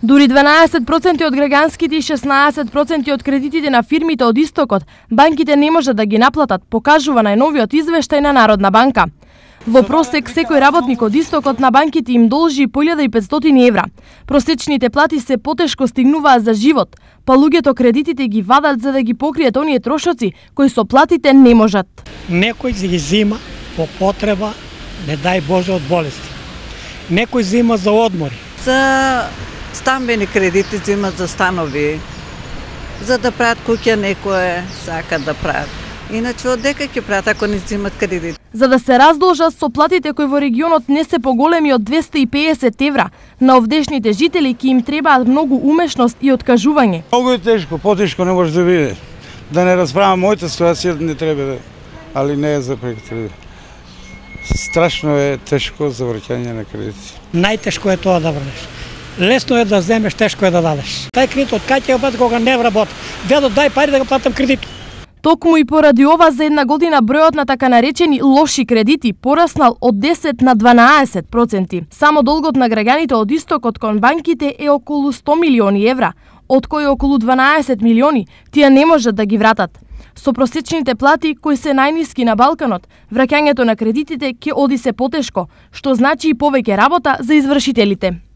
Дури 12% од граѓанските и 16% од кредитите на фирмите од Истокот банките не можат да ги наплатат, покажува најновиот извештај на Народна банка. Во просек, секој работник од Истокот на банките им должи по 1500 евра. Просечните плати се потешко стигнуваат за живот, па луѓето кредитите ги вадат за да ги покријат оние трошоци кои со платите не можат. Некој ги зима по потреба, не дај Боже, од болести. Некој зима за одмори. За стамбени кредити зимат за станови, за да прават куќа некој сака да прават. Иначе од дека ќе прават ако не зимат кредит. За да се раздолжат со платите кои во регионот не се поголеми од 250 евра, на овдешните жители ќе им требаат многу умешност и откажување. Многу е тешко, потешко не може да биде. Да не расправам мојата ситуација, не треба да, али не е за проектори. Страшно е тешко за враќање на кредити. Најтешко е тоа да врнеш. Лесно е да земеш, тешко е да дадеш. Тај кредит од кај ќе го плати кога не вработи. Дедо, дај пари да го платам кредит. Токму и поради ова за една година бројот на така наречени лоши кредити пораснал од 10 на 12%. Само долгот на граѓаните од Истокот кон банките е околу 100 милиони евра, од кои околу 12 милиони тие не можат да ги вратат. Со просечните плати кои се најниски на Балканот, враќањето на кредитите ќе оди се потешко, што значи и повеќе работа за извршителите.